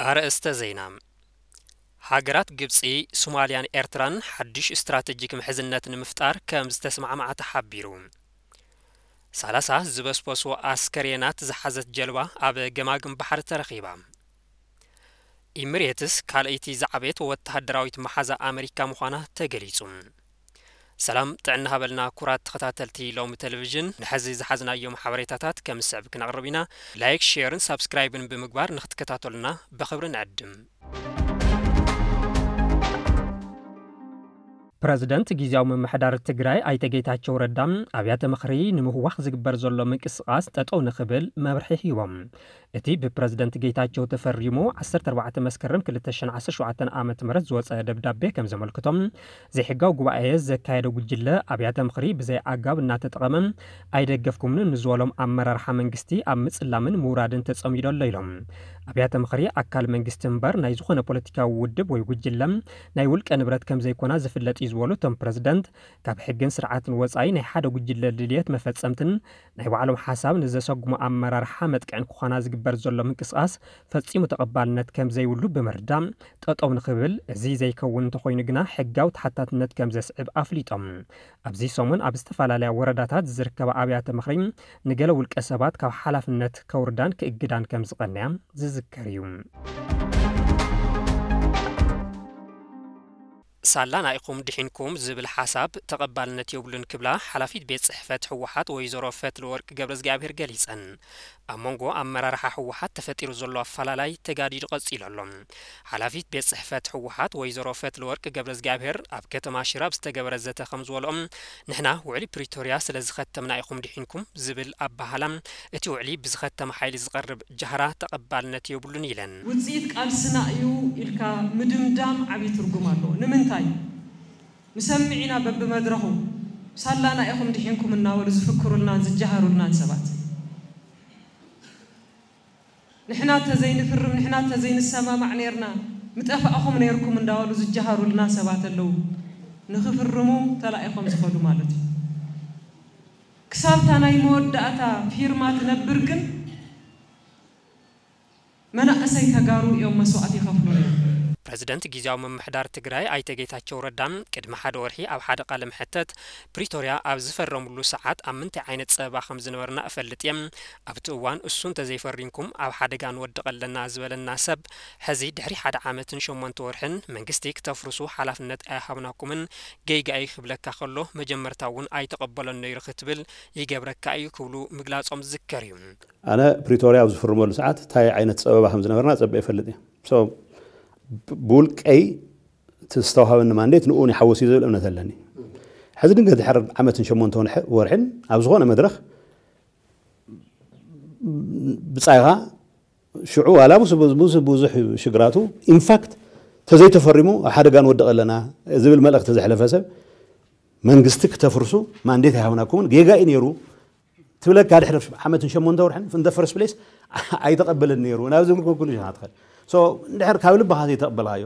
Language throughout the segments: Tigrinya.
ኣርእስተ ዜና። ሃገራት ግብጺ፣ ሶማልያን ኤርትራን ሓድሽ ስትራተጂክ ምሕዝነት ንምፍጣር ከም ዝተስማዕማዓ ተሓቢሩ። ሰላሳ ዝበስበሱ ኣስከሬናት ዝሓዘት ጀልባ ኣብ ገማግም ባሕሪ ተረኺባ። ኢሚሬትስ ካልኣይቲ ዝዓበየት ወተሃደራዊት መሓዛ ኣመሪካ ምዃና ተገሊጹ። ሰላም ጥዕና ሃበልና ኩራት ተኸታተልቲ ሎሚ ቴሌቪዥን፣ ንሐዚ ዝሓዝናዮም ሓበሬታታት ከም ዝስዕብ ክነቕርብ ኢና። ላይክ፣ ሼርን ሳብስክራይብን ብምግባር ንክትከታተሉና ብኽብሪ ንዕድም። ፕረዚደንት ግዝያዊ ምምሕዳር ትግራይ ኣይተ ጌታቸው ረዳ ኣብያተ ምኽሪ ንምህዋኽ ዝግበር ዘሎ ምንቅስቓስ ጠጠው ንኽብል መብርሒ ሂቦም። እቲ ብፕረዚደንት ጌታቸው ተፈሪሙ ዓሰርተ ኣርባዕተ መስከረም ክልተ ሺሕ ዓሰርተ ሸውዓተ ዓመተ ምህረት ዝወጸ ደብዳቤ ከም ዘመልክቶም፣ ዘይሕጋዊ ጉባኤ ዘካየደ ጉጅለ ኣብያተ ምኽሪ ብዘይ ኣግባብ እናተጠቐመ ኣይደገፍኩምን ንዝበሎም ኣመራርሓ መንግስቲ ኣብ ምጽላምን ምውራድን ተጸሚዱ ኣሎ ኢሎም። ኣብያተ ምኽሪ ኣካል መንግስቲ እምበር ናይ ዝኾነ ፖለቲካዊ ውድብ ወይ ጉጅለ ናይ ውልቀ ንብረት ከም ዘይኮና ዝፍለጥ እዩ ዝበሉ እቶም ፕረዚደንት፣ ካብ ሕግን ስርዓትን ወጻኢ ናይ ሓደ ጉጅለ ድልየት መፈጸምትን ናይ ባዕሎም ሓሳብ ንዘሰጉሙ ኣመራርሓ መጥቅዕን ክኾና ዝግበር ዘሎ ምንቅስቓስ ፈጺሙ ተቐባልነት ከም ዘይብሉ ብምርዳእ፣ ጠጠው ንኽብል፣ እዚ ዘይከውን እንተኾይኑ ግና ሕጋዊ ተሓታትነት ከም ዘስዕብ ኣፍሊጦም። ኣብዚ ሰሙን ኣብ ዝተፈላለያ ወረዳታት ዝርከባ ኣብያተ ምኽሪ ንገለ ውልቀ ሰባት ካብ ሓላፍነት ከውርዳን ክእግዳን ከም ዝቐነያ ዝዝከር እዩ። ሳላና ኢኹም ድሒንኩም ዝብል ሓሳብ ተቐባልነት የብሉን ክብላ ሓላፊት ቤት ጽሕፈት ህወሓት ወይዘሮ ፈትለወርቅ ገብረእግዚኣብሔር ገሊጸን። ኣብ መንጎ ኣመራርሓ ህወሓት ተፈጢሩ ዘሎ ኣፈላላይ ተጋዲዱ ቀጺሉ ኣሎ። ሓላፊት ቤት ጽሕፈት ህወሓት ወይዘሮ ፈትለወርቅ ገብረእግዚኣብሔር ኣብ ከተማ ሽረ ኣብ ዝተገበረ ዘተ ከም ዝበልኦም፣ ንሕና ውዕሊ ፕሪቶርያ ስለ ዝኸተምና ኢኹም ድሒንኩም ዝብል ኣበሃህላ፣ እቲ ውዕሊ ብዝኸተመ ሓይሊ ዝቐርብ ጃህራ ተቐባልነት የብሉን ኢለን። ውጽኢት ቃልስና እዩ ኢልካ ምድምዳም ዓብዪ ትርጉም ኣለዎ። ንምንታይ? ንሰምዕ ኢና በብመድረኹ ሳላና ኢኹም ድሒንኩም እናበሉ ዝፍክሩልናን ዝጀሃሩልናን ሰባት። ንሕና ተዘይንፍርም፣ ንሕና ተዘይንሰማማዕ ነይርና፣ ምጠፋእኹም ነይርኩም እንዳበሉ ዝጀሃሩልና ሰባት ኣለዉ። ንኽፍርሙ ተላኢኾም ዝኸዱ ማለት እዩ። ክሳብታ ናይ መወዳእታ ፊርማ ትነብር ግን መናእሰይ ተጋሩ እዮም መስዋእቲ ይኸፍሉ ነይሮም። ፕረዚደንት ግዝያዊ ምምሕዳር ትግራይ ኣይተ ጌታቸው ረዳ ቅድሚ ሓደ ወርሒ ኣብ ሓደ ቃለ መሕተት፣ ፕሪቶርያ ኣብ ዝፈረምሉ ሰዓት ኣብ ምንታይ ዓይነት ጸበባ ከም ዝነበርና እፈልጥ እየ። ኣብቲ እዋን እሱ እንተዘይፈሪምኩም ኣብ ሓደጋ ንወድቕ ኣለና ዝበለና ሰብ፣ ሕዚ ድሕሪ ሓደ ዓመትን ሸሞንተ ወርሕን መንግስቲ ክተፍርሱ ሓላፍነት ኣይሃብናኩምን፣ ጌጋ እዩ ክብለካ ከሎ መጀመርታ እውን ኣይተቐበሎን ነይሩ ክትብል ይገብረካ እዩ ክብሉ ምግላጾም ዝዝከር እዩ። ኣነ ፕሪቶርያ ኣብ ዝፍርመሉ ሰዓት እንታይ ዓይነት ጸበባ ከም ዝነበርና ጸበ ይፈልጥ እየ። So፣ ብ-፣ ብውልቀይ እቲ ዝተዋሃበኒ ማንዴት ንኡ ይሓወስ እዩ ዝብል እምነት ኣለኒ። ሕዚ ድንገት ድሕሪ ዓመትን ሸሞንተ ወርሒ-፣ ወርሕን ኣብ ዝኾነ መድረኽ ብጻይኻ ሽዑ ዋላ ምስ ብዙ-፣ ብዙ-፣ ብዙሕ ሽግራቱ፣ ኢንፋክት፣ ተዘይተፈሪሙ ኣብ ሓደጋ ንወድቕ ኣለና ዝብል መልእኽቲ ዘሕለፈ ሰብ፣ መንግስቲ ክተፍርሱ ማንዴት ኣይሃብናኩምን፣ ጌጋ እዩ ነይሩ ትብለካ፣ ድሕሪ ዓመትን ሸሞንተ ወርሕን፣ in the first place ኣይተቐበለን ነይሩ ናብ ዝብል ኮንክሉዥን ትኸድ። So፣ እንድሕር ካብ ልብኻ ዘይተቐበልካዮ፣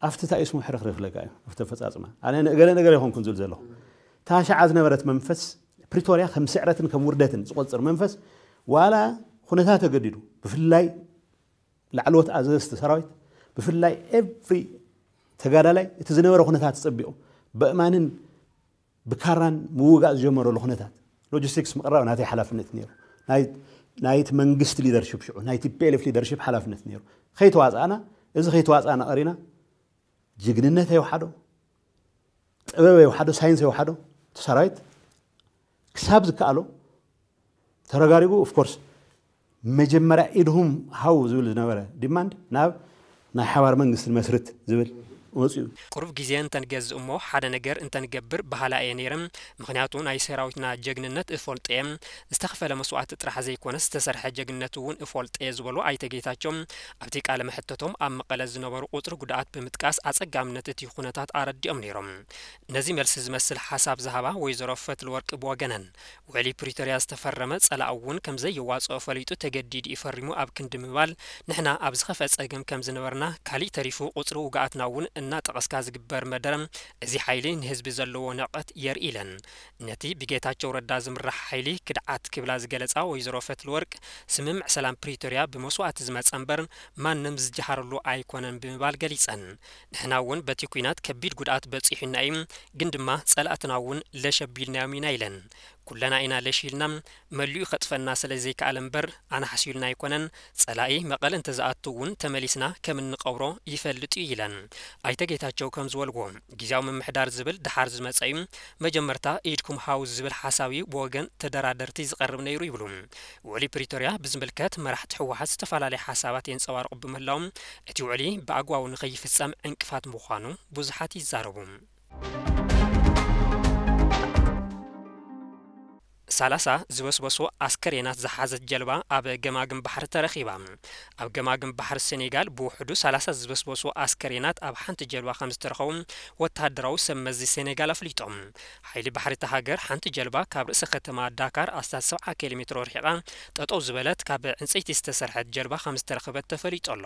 ኣብቲ እንታይ እዩ ስሙ ሕርኽርኽ ኢለካ እዩ፣ ኣብቲ ኣፈጻጽማ። ኣነ ንእገለ ነገር ኣይኮንኩን ዝብል ዘለኹ። እታ ሽዓ ዝነበረት መንፈስ ፕሪቶርያ ከም ስዕረትን ከም ውርደትን ዝቆጽር መንፈስ፣ ዋላ ኩነታት ተገዲዱ፣ ብፍላይ ላዕለዎት ኣዘዝቲ ሰራዊት፣ ብፍላይ ኤቭሪ ተጋዳላይ እቲ ዝነበረ ኩነታት ጸቢቑ፣ በእማንን ብካራን ምውጋእ ዝጀመረሉ ኩነታት፣ ሎጂስቲክስ ምቕራብ ናተይ ሓላፍነት ነይሩ። ናይ፣ ናይቲ መንግስቲ ሊደርሽፕ ሽዑ፣ ናይ ቲ ፒ ኤል ኤፍ ሊደርሽፕ ሓላፍነት ነይሩ። ከይተዋጻእና፣ እዚ ከይተዋጻእና ቀሪና፣ ጅግንነት ኣይወሓዶ፣ ጥበብ ኣይወሓዶ፣ ሳይንስ ኣይወሓዶ፣ እቲ ሰራዊት ክሳብ ዝከኣሎ ተረጋሪጉ። ኦፍ ኮርስ፣ መጀመርያ ኢድኹም ሃው ዝብል ዝነበረ ዲማንድ ናብ ናይ ሓባር መንግስቲ ንመስርት ዝብል መፅኡ። ቁሩብ ግዜ እንተንገዝእ እሞ ሓደ ነገር እንተንገብር በሃላይ እየ ነይረ። ምኽንያቱ ናይ ሰራዊትና ጀግንነት እፈልጦ እየ። ዝተኸፈለ መስዋእቲ ጥራሕ ዘይኮነስ ዝተሰርሐ ጀግንነት እውን እፈልጦ እየ ዝበሉ ኣይተ ጌታቸው፣ ኣብቲ ቃለ መሕተቶም ኣብ መቐለ ዝነበሩ ቁጽሪ ጉድኣት ብምጥቃስ ኣጸጋምነት እቲ ኩነታት ኣረዲኦም ነይሮም። ነዚ መልሲ ዝመስል ሓሳብ ዝሃባ ወይዘሮ ፈትለወርቅ ብወገነን፣ ውዕሊ ፕሪቶርያ ዝተፈረመ ጸላኢ እውን ከም ዘየዋጽኦ ፈሊጡ ተገዲዱ እዩ ፈሪሙ ኣብ ክንዲ ምባል፣ ንሕና ኣብ ዝኸፍአ ጸገም ከም ዝነበርና፣ ካሊእ ተሪፉ ቁጽሪ ውግኣትና እውን እናጠቐስካ ዝግበር መደረ፣ እዚ ሓይሊ ንህዝቢ ዘለዎ ንዕቀት የርኢ ኢለን። ነቲ ብጌታቸው ረዳ ዝምራሕ ሓይሊ ክድዓት ክብላ ዝገለጻ ወይዘሮ ፈትለወርቅ፣ ስምምዕ ሰላም ፕሪቶርያ ብመስዋእቲ ዝመጸ እምበር ማንም ዝጀሃረሉ ኣይኮነን ብምባል ገሊጸን። ንሕና እውን በቲ ኲናት ከቢድ ጉድኣት በጺሑና እዩ፣ ግን ድማ ጸላእትና እውን ለሽ ኣቢልናዮም ኢና ኢለን። ኩለና ኢና ለሽ ኢልና፣ መሊኡ ከጥፈና ስለ ዘይከኣለ እምበር ኣናሕሲሉና ኣይኮነን። ጸላኢ መቐለ እንተዝኣቱ እውን ተመሊስና ከም እንቐብሮ ይፈልጥ እዩ ኢለን። ኣይተ ጌታቸው ከም ዝበልዎ፣ ግዝያዊ ምምሕዳር ዝብል ደሓር ዝመጸ እዩ። መጀመርታ ኢድኩም ሃው ዝብል ሓሳብ እዩ ብወገን ተደራደርቲ ዝቐርብ ነይሩ ይብሉ። ውዕሊ ፕሪቶርያ ብዝምልከት መራሕቲ ህወሓት ዝተፈላለየ ሓሳባት የንጸባርቑ ብምህላዎም፣ እቲ ውዕሊ ብኣግባቡ ንኸይፍጸም ዕንቅፋት ምዃኑ ብዙሓት ይዛረቡ። ሰላሳ ዝበስበሱ ኣስከሬናት ዝሓዘት ጀልባ ኣብ ገማግም ባሕሪ ተረኺባ። ኣብ ገማግም ባሕሪ ሴኔጋል ብውሕዱ ሰላሳ ዝበስበሱ ኣስከሬናት ኣብ ሓንቲ ጀልባ ከም ዝተረኸቡ ወተሃደራዊ ሰብ መዚ ሴኔጋል ኣፍሊጦም። ሓይሊ ባሕሪ እታ ሃገር፣ ሓንቲ ጀልባ ካብ ርእሰ ከተማ ዳካር ኣስታት ሰብዓ ኪሎ ሜትሮ ርሒቓ ጠጠው ዝበለት ካብ ዕንፀይቲ ዝተሰርሐት ጀልባ ከም ዝተረኸበት ተፈሊጡ ኣሎ።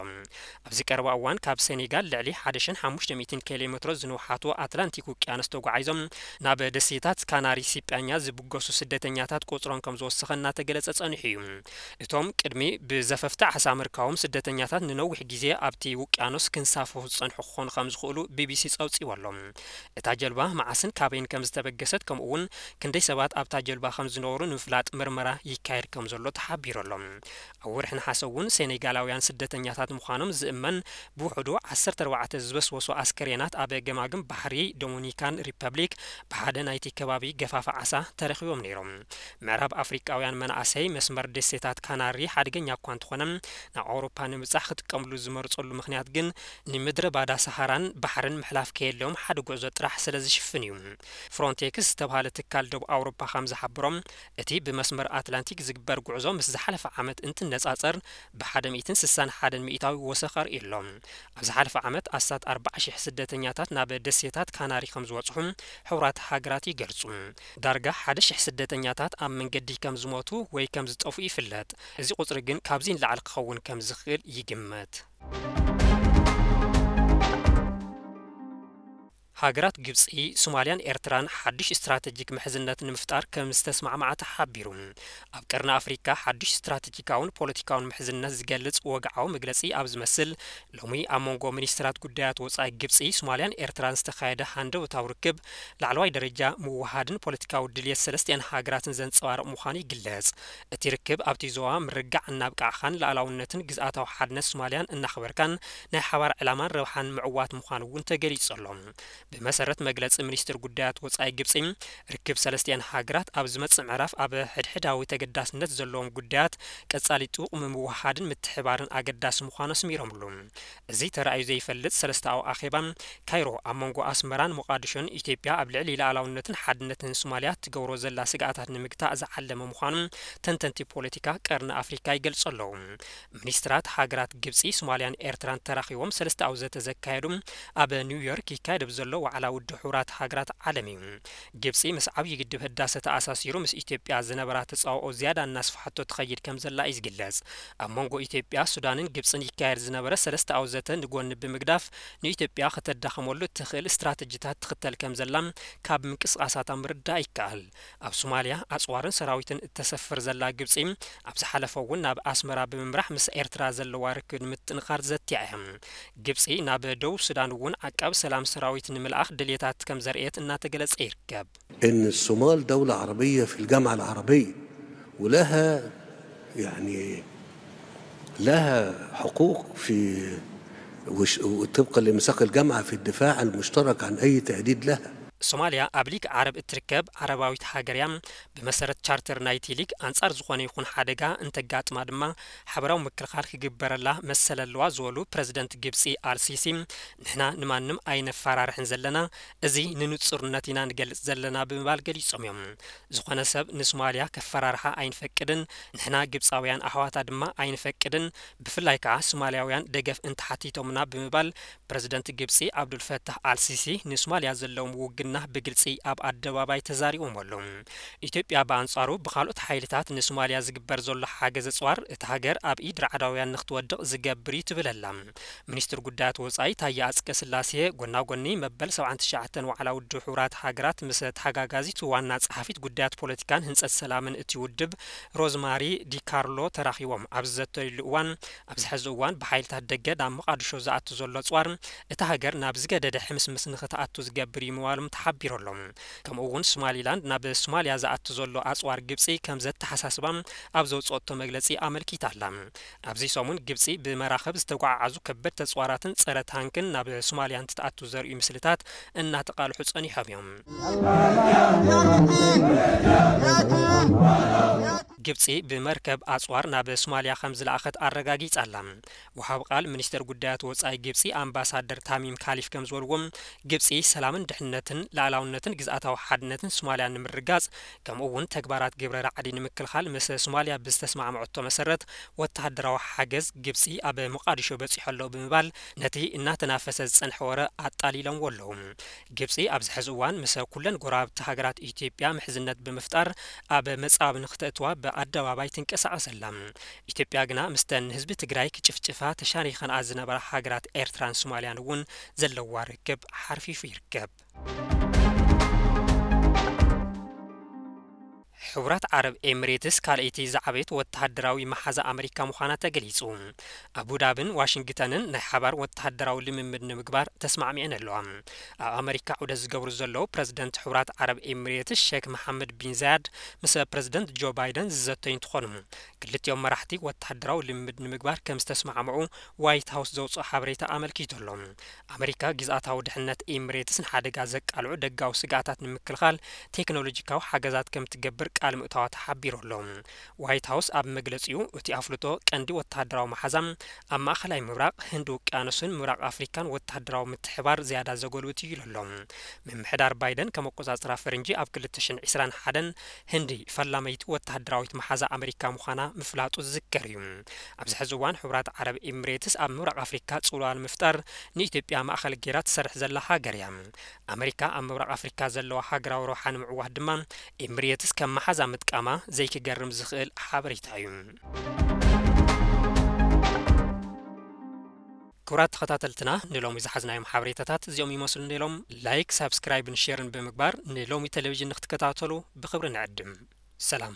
ኣብዚ ቀረባ እዋን ካብ ሴኔጋል ልዕሊ ሓደ ሽሕን ሓሙሽተ ሚእትን ኪሎ ሜትሮ ዝንውሓቱ ኣትላንቲክ ውቅያኖስ ተጓዒዞም ናብ ደሴታት ካናሪ ሲጳኛ ዝብገሱ ስደተኛታት ቁጽሮም ከም ዝወሰኸ እናተገለጸ ጸኒሑ እዩ። እቶም ቅድሚ ብዘፈፍቲ ዓሳ ምርካቦም ስደተኛታት ንነዊሕ ግዜ ኣብቲ ውቅያኖስ ክንሳፈፉ ዝጸንሑ ክኾኑ ከም ዝኽእሉ ቢቢሲ ጸውጺዎ ኣሎ። እታ ጀልባ መዓስን ካበይን ከም ዝተበገሰት፣ ከምኡ እውን ክንደይ ሰባት ኣብታ ጀልባ ከም ዝነበሩ ንምፍላጥ ምርመራ ይካየድ ከም ዘሎ ተሓቢሩ ኣሎ። ኣብ ወርሒ ነሓሰ እውን ሴኔጋላውያን ስደተኛታት ምዃኖም ዝእመን ብውሕዱ ዓሰርተ ኣርባዕተ ዝበስበሱ ኣስከሬናት ኣብ ገማግም ባሕሪ ዶሚኒካን ሪፐብሊክ ብሓደ ናይቲ ከባቢ ገፋፋ ዓሳ ተረኺቦም ነይሮም። ምዕራብ ኣፍሪቃውያን መናእሰይ መስመር ደሴታት ካናሪ ሓደገኛ እኳ እንተኾነ፣ ናብ ኣውሮፓ ንምብጻሕ ክጥቀምሉ ዝመርጸሉ ምኽንያት ግን ንምድረ ባዳ ሰሃራን ባሕርን ምሕላፍ ከየድልዮም ሓደ ጉዕዞ ጥራሕ ስለ ዝሽፍን እዩ። ፍሮንቴክስ ዝተባህለ ትካል ደቡብ ኣውሮፓ ከም ዝሓበሮም፣ እቲ ብመስመር ኣትላንቲክ ዝግበር ጉዕዞ ምስ ዝሓለፈ ዓመት እንትነጻጸር ብሓደ ሚእትን ስሳን ሓደን ሚእታዊ ወሰኽ ኣርእዩ ኣሎ። ኣብ ዝሓለፈ ዓመት ኣስታት ኣርባዓ ሺሕ ስደተኛታት ናብ ደሴታት ካናሪ ከም ዝበጽሑ ሕቡራት ሃገራት ይገልጹ። ዳርጋ ሓደ ሺሕ ስደተኛታት ኣብ መንገዲ ከም ዝሞቱ ወይ ከም ዝጠፍኡ ይፍለጥ። እዚ ቁጽሪ ግን ካብዚ ንላዕሊ ክኸውን ከም ዝኽእል ይግመት። ሃገራት ግብጺ፣ ሶማልያን ኤርትራን ሓድሽ ስትራተጂክ ምሕዝነት ንምፍጣር ከም ዝተስማዕማዓ ተሓቢሩ። ኣብ ቀርኒ ኣፍሪካ ሓድሽ ስትራተጂካውን ፖለቲካውን ምሕዝነት ዝገልጽ ወግዓዊ መግለጺ ኣብ ዝመስል፣ ሎሚ ኣብ መንጎ ሚኒስትራት ጉዳያት ወጻኢ ግብጺ፣ ሶማልያን ኤርትራን ዝተኻየደ ሃንደበታዊ ርክብ፣ ላዕለዋይ ደረጃ ምውሃድን ፖለቲካዊ ድልየት ሰለስቲኣን ሃገራትን ዘንጸባርቕ ምዃኑ ይግለጽ። እቲ ርክብ ኣብቲ ዞባ ምርግጋዕ እናብቃዕኻን ሉኣላውነትን ግዝኣታዊ ሓድነት ሶማልያን እናኽበርካን ናይ ሓባር ዕላማን ረብሓን ምዕዋት ምዃኑ እውን ተገሊጹ ኣሎ። ብመሰረት መግለጺ ሚኒስትር ጉዳያት ወጻኢ ግብጺ፣ ርክብ ሰለስቲኣን ሃገራት ኣብ ዝመጽእ ምዕራፍ ኣብ ሕድሕዳዊ ተገዳስነት ዘለዎም ጉዳያት ቀጻሊ ጥቡቕ ምምውሃድን ምትሕባርን ኣገዳሲ ምዃኑ ኣስሚሮምሉ። እዚ ተራእዩ ዘይፈልጥ ሰለስተኣዊ ኣኼባ ካይሮ ኣብ መንጎ ኣስመራን ሞቃዲሾን ኢትዮጵያ ኣብ ልዕሊ ሉኣላውነትን ሓድነትን ሶማልያ ትገብሮ ዘላ ስግኣታት ንምግታእ ዝዓለመ ምዃኑ ተንተንቲ ፖለቲካ ቀርኒ ኣፍሪካ ይገልጹ ኣለዉ። ሚኒስትራት ሃገራት ግብጺ፣ ሶማልያን ኤርትራን ተራኺቦም ሰለስተኣዊ ዘተ ዘካየዱ ኣብ ኒውዮርክ ይካየድ ኣብ ዘሎ ዋዕላ ውድብ ሕቡራት ሃገራት ዓለም እዩ። ግብጺ ምስ ዓብዪ ግድብ ህዳሰ ተኣሳሲሩ ምስ ኢትዮጵያ ዝነበራ ተጻብኦ ዝያዳ እናስፍሓቶ ትኸይድ ከም ዘላ እዩ ዝግለጽ። ኣብ መንጎ ኢትዮጵያ፣ ሱዳንን ግብጽን ይካየድ ዝነበረ ሰለስተኣዊ ዘተ ንጎኒ ብምግዳፍ ንኢትዮጵያ ከተዳኽመሉ እትኽእል ስትራተጂታት ትኽተል ከም ዘላ ካብ ምንቅስቓሳታ ምርዳእ ይከኣል። ኣብ ሶማልያ ኣጽዋርን ሰራዊትን እተሰፍር ዘላ ግብጺ፣ ኣብ ዝሓለፈ እውን ናብ ኣስመራ ብምምራሕ ምስ ኤርትራ ዘለዋ ርክብ ንምጥንኻር ዘትያ እያ። ግብጺ ናብ ደቡብ ሱዳን እውን ዓቃቢ ሰላም ሰራዊት ንምልኣኽ ድልየታት ከም ዘርእየት እናተገለጸ ይርከብ። إن الصومال دولة عربية في الجامعة العربية، ولها، يعني، لها حقوق في، وش-، وطبقا لميثاق الجامعة في الدفاع المشترك عن أي تهديد لها. ሶማልያ ኣብ ሊግ ዓረብ እትርከብ ዓረባዊት ሃገር እያ። ብመሰረት ቻርተር ናይቲ ሊግ፣ ኣንጻር ዝኾነ ይኹን ሓደጋ እንተጋጥማ ድማ ሓበራዊ ምክልኻል ክግበረላ መሰል ኣለዋ ዝበሉ ፕረዚደንት ግብጺ ኣልሲሲ፣ ንሕና ንማንም ኣይነፈራርሕን ዘለና፣ እዚ ንንጹርነት ኢና ንገልጽ ዘለና ብምባል ገሊጾም እዮም። ዝኾነ ሰብ ንሶማልያ ከፈራርሓ ኣይንፈቅድን፣ ንሕና ግብጻውያን ኣሕዋታ ድማ ኣይንፈቅድን፣ ብፍላይ ከኣ ሶማልያውያን ደገፍ እንተሓቲቶምና ብምባል ፕረዚደንት ግብጺ ዓብዱልፈታሕ ኣልሲሲ ንሶማልያ ዘለዎም ውግን እና ብግልጺ ኣብ ኣደባባይ ተዛሪቦም ኣለዉ። ኢትዮጵያ ብኣንጻሩ ብኻልኦት ሓይልታት ንሶማልያ ዝግበር ዘሎ ሓገዝ ኣጽዋር እታ ሃገር ኣብ ኢድ ራዕዳውያን ንክትወድቕ ዝገብር እዩ ትብል ኣላ። ሚኒስትር ጉዳያት ወጻኢ ታየ ኣጽቀ ስላሴ ጎና ጎኒ መበል ሰብዓን ትሽዓተን ዋዕላ ውድብ ሕቡራት ሃገራት ምስ ተሓጋጋዚት ዋና ጸሓፊት ጉዳያት ፖለቲካን ህንጸት ሰላምን እቲ ውድብ ሮዝማሪ ዲካርሎ ተራኺቦም ኣብ ዝዘተይሉ እዋን፣ ኣብዚ ሕዚ እዋን ብሓይልታት ደገ ናብ መቓድሾ ዝኣቱ ዘሎ ኣጽዋር እታ ሃገር ናብ ዝገደደ ሕምስምስ ንክትኣቱ ዝገብር እዩ ምባሎም ተሓቢሩ ኣሎ። ከምኡ እውን ሶማሊላንድ ናብ ሶማልያ ዝኣቱ ዘሎ ኣጽዋር ግብጺ ከም ዘተሓሳስባ ኣብ ዘውፅኦቶ መግለጺ ኣመልኪታ ኣላ። ኣብዚ ሰሙን ግብጺ ብመራኸብ ዝተጓዓዓዙ ከበድቲ ኣጽዋራትን ጸረ ታንክን ናብ ሶማልያ እንትትኣቱ ዘርእዩ ምስልታት እናተቃልሑ ጸኒሖም እዮም። ግብጺ ብመርከብ ኣጽዋር ናብ ሶማልያ ከም ዝለኣኸት ኣረጋጊጻ ኣላ። ወሃብ ቃል ሚኒስተር ጉዳያት ወጻኢ ግብጺ ኣምባሳደር ታሚም ካሊፍ ከም ዝበልዎ፣ ግብጺ ሰላምን ድሕነትን ላእላውነትን ግዝኣታዊ ሓድነትን ሶማልያ ንምርጋጽ፣ ከምኡ እውን ተግባራት ግብረ ራዕዲ ንምክልኻል ምስ ሶማልያ ብዝተስማዕምዐቶ መሰረት ወተሃደራዊ ሓገዝ ግብጺ ኣብ ሞቃዲሾ በጺሑ ኣሎ ብምባል ነቲ እናተናፈሰ ዝጸንሐ ወረ ኣጣሊሎምዎ ኣለዉ። ግብጺ ኣብዚ ሕዚ እዋን ምስ ኩለን ጎረባብቲ ሃገራት ኢትዮጵያ ምሕዝነት ብምፍጣር ኣብ መጻብ ንክተእትዋ ብኣደባባይ ትንቀሳቐስ ኣላ። ኢትዮጵያ ግና ምስተን ንህዝቢ ትግራይ ክጭፍጭፋ ተሻሪኸንኣ ዝነበራ ሃገራት ኤርትራን ሶማልያን እውን ዘለዋ ርክብ ሓርፊፉ ይርከብ። ሕቡራት ዓረብ ኤሚሬትስ ካልኣይቲ ዝዓበየት ወተሃደራዊ መሓዛ ኣመሪካ ምዃና ተገሊጹ። ኣቡዳብን ዋሽንግተንን ናይ ሓባር ወተሃደራዊ ልምምድ ንምግባር ተስማዕሚዐን ኣለዋ። ኣብ ኣመሪካ ዑደት ዝገብሩ ዘለዉ ፕረዚደንት ሕቡራት ዓረብ ኤሚሬትስ ሼክ መሓመድ ቢን ዛያድ ምስ ፕረዚደንት ጆ ባይደን ዝዘተዩ እንትኾኑ፣ ክልቲኦም መራሕቲ ወተሃደራዊ ልምምድ ንምግባር ከም ዝተስማዕምዑ ዋይት ሃውስ ዘውፅኦ ሓበሬታ ኣመልኪቱ ኣሎ። ኣመሪካ ግዝኣታዊ ድሕነት ኤሚሬትስ ንሓደጋ ዘቃልዑ ደጋዊ ስግኣታት ንምክልኻል ቴክኖሎጂካዊ ሓገዛት ከም ትገብር ቃል ምእታዋ ተሓቢሩ ኣሎ። ዋይት ሃውስ ኣብ መግለጺኡ፣ እቲ ኣፍልጦ ቀንዲ ወተሃደራዊ መሓዛ ኣብ ማእከላይ ምብራቕ፣ ህንዲ ውቅያኖስን ምብራቕ ኣፍሪካን ወተሃደራዊ ምትሕባር ዝያዳ ዘጎልብት እዩ ኢሉ ኣሎ። ምምሕዳር ባይደን ከም ኣቆጻጽራ ፈረንጂ ኣብ ክልተ ሽሕን ዕስራን ሓደን ህንዲ ፈላመይቲ ወተሃደራዊት መሓዛ ኣመሪካ ምዃና ምፍላጡ ዝዝከር እዩ። ኣብዚ ሕዚ እዋን ሕቡራት ዓረብ ኤሚሬትስ ኣብ ምብራቕ ኣፍሪካ ጽልዋ ንምፍጣር ንኢትዮጵያ ማእኸል ገይራ ትሰርሕ ዘላ ሃገር እያ። ኣመሪካ ኣብ ምብራቕ ኣፍሪካ ዘለዋ ሃገራዊ ረብሓ ንምዕዋት ድማ ኤሚሬትስ ከም መሓዛ ምጥቃማ ዘይክገርም ዝኽእል ሓበሬታ እዩ። ክቡራት ተኸታተልትና፣ ንሎሚ ዝሓዝናዮም ሓበሬታታት እዚኦም ይመስሉ ነይሮም። ላይክ፣ ሳብስክራይብን ሼርን ብምግባር ንሎሚ ቴሌቪዥን ንክትከታተሉ ብኽብሪ ንዕድም። ሰላም።